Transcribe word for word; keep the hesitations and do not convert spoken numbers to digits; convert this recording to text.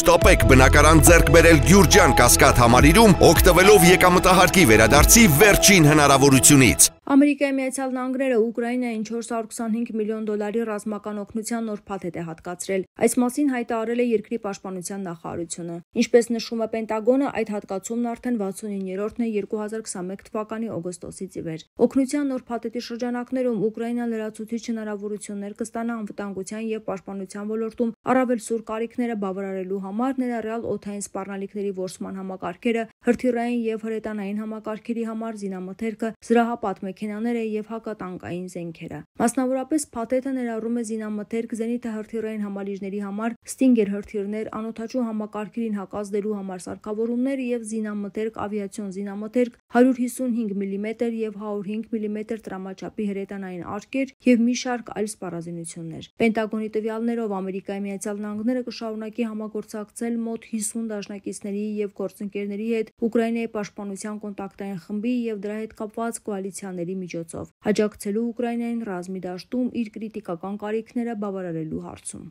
Չշտապեք բնակարան ձեռք բերել Գյուրջան Կասկադ համալիրում, օգտվելով եկամտահարկի վերադարձի վերջին հնարավորությունից։ Ամերիկայի Միացյալ Նահանգները Ուկրաինային չորս հարյուր քսանհինգ միլիոն դոլարի ռազմական օգնության նոր փաթեթ է հատկացրել։ Այս մասին հայտարարել է երկրի պաշտպանության նախարարությունը։ Ինչպես նշում է Պենտագոնը, այդ հատկացումն արդեն վաթսունիններորդն է երկու հազար քսանմեկ թվականի օգոստոսից ի վեր։ Օգնության նոր փաթեթի շրջանակներում Ուկրաինան լրացուցիչ հնարավորություններ կստանա անվտանգության եւ պաշտպանության ոլորտում առավել սուր կարիքները բավարարելու համար, ներառյալ օդային սպառնալիքների որսման համակարգերը, հրթիռային եւ հրետանային համակարգերի համար զինամթերքը, զրահապատ մեքենաները եւ հակատանկային զենքերը։ Մասնավորապես փաթեթը ներառում է զինամթերք, զենիթը հրթիռային համալիրների համար, ստինգեր հրթիռներ, անօդաչու համակարգերին հակազդելու համար սարքավորումներ եւ զինամթերք, ավիացիոն զինամթերք, հարյուր հիսունհինգ միլիմետր եւ հարյուր հինգ միլիմետր տրամաչափի հրետանային արկեր եւ մի շարք այլ սպառազինություններ։ Պենտագոնի տվյալներով Ամերիկայի Միացյալ Նահանգները կշարունակի համագործակցել մոտ հիսուն դաշնակիցների եւ գործընկերների հետ Ուկրաինայի պաշտպանության կոնտակտային խմբի եւ դրա հետ կապված կոալիցիաների միջոցով, աջակցելու Ուկրաինային ռազմի դաշտում իր կրիտիկական կարիքները բավարարելու հարցում։